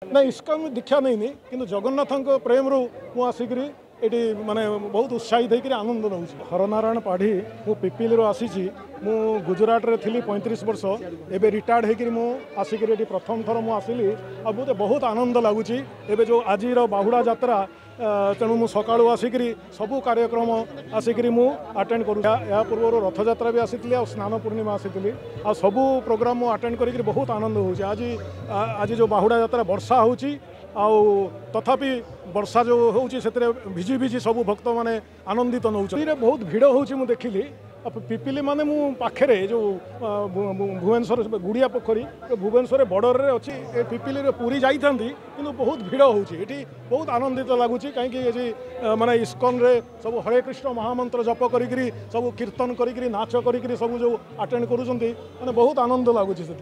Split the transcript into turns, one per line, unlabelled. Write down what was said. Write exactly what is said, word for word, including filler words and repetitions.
ନା, ଇସ୍କନ ଦୀକ୍ଷା ନେଇନି, କିନ୍ତୁ ଜଗନ୍ନାଥଙ୍କ ପ୍ରେମରୁ ମୁଁ ଆସିକିରି ଏଠି ମାନେ ବହୁତ ଉତ୍ସାହିତ ହେଇକିରି ଆନନ୍ଦ ନେଉଛି। ହରନାରାୟଣ ପାଢ଼ୀ, ମୁଁ ପିପିଲିରୁ ଆସିଛି। ମୁଁ ଗୁଜୁରାଟରେ ଥିଲି ପଇଁତିରିଶ ବର୍ଷ, ଏବେ ରିଟାୟାର୍ଡ଼ ହେଇକିରି ମୁଁ ଆସିକିରି ଏଠି ପ୍ରଥମ ଥର ମୁଁ ଆସିଲି, ଆଉ ମୋତେ ବହୁତ ଆନନ୍ଦ ଲାଗୁଛି ଏବେ ଯେଉଁ ଆଜିର ବାହୁଡ଼ା ଯାତ୍ରା। ତେଣୁ ମୁଁ ସକାଳୁ ଆସିକିରି ସବୁ କାର୍ଯ୍ୟକ୍ରମ ଆସିକିରି ମୁଁ ଆଟେଣ୍ଡ କରୁଛି। ଏହା ପୂର୍ବରୁ ରଥଯାତ୍ରା ବି ଆସିଥିଲି ଆଉ ସ୍ନାନ ପୂର୍ଣ୍ଣିମା ଆସିଥିଲି, ଆଉ ସବୁ ପ୍ରୋଗ୍ରାମ ମୁଁ ଆଟେଣ୍ଡ କରିକିରି ବହୁତ ଆନନ୍ଦ ହେଉଛି। ଆଜି ଆଜି ଯେଉଁ ବାହୁଡ଼ା ଯାତ୍ରା, ବର୍ଷା ହେଉଛି, ଆଉ ତଥାପି ବର୍ଷା ଯେଉଁ ହେଉଛି ସେଥିରେ ଭିଜି ଭିଜି ସବୁ ଭକ୍ତମାନେ ଆନନ୍ଦିତ ନେଉଛନ୍ତି। ବହୁତ ଭିଡ଼ ହେଉଛି ମୁଁ ଦେଖିଲି। ପିପିଲି ମାନେ ମୁଁ ପାଖରେ ଯେଉଁ ଭୁବନେଶ୍ୱର ଗୁଡ଼ିଆ ପୋଖରୀ, ଭୁବନେଶ୍ୱରରେ ବର୍ଡ଼ରରେ ଅଛି। ଏ ପିପିଲିରେ ପୁରୀ ଯାଇଥାନ୍ତି, କିନ୍ତୁ ବହୁତ ଭିଡ଼ ହେଉଛି ଏଠି। ବହୁତ ଆନନ୍ଦିତ ଲାଗୁଛି, କାହିଁକି ଏଠି ମାନେ ଇସ୍କନରେ ସବୁ ହରେ କୃଷ୍ଣ ମହାମନ୍ତ୍ର ଜପ କରିକିରି, ସବୁ କୀର୍ତ୍ତନ କରିକିରି, ନାଚ କରିକିରି ସବୁ ଯେଉଁ ଆଟେଣ୍ଡ କରୁଛନ୍ତି, ମାନେ ବହୁତ ଆନନ୍ଦ ଲାଗୁଛି ସେଠି।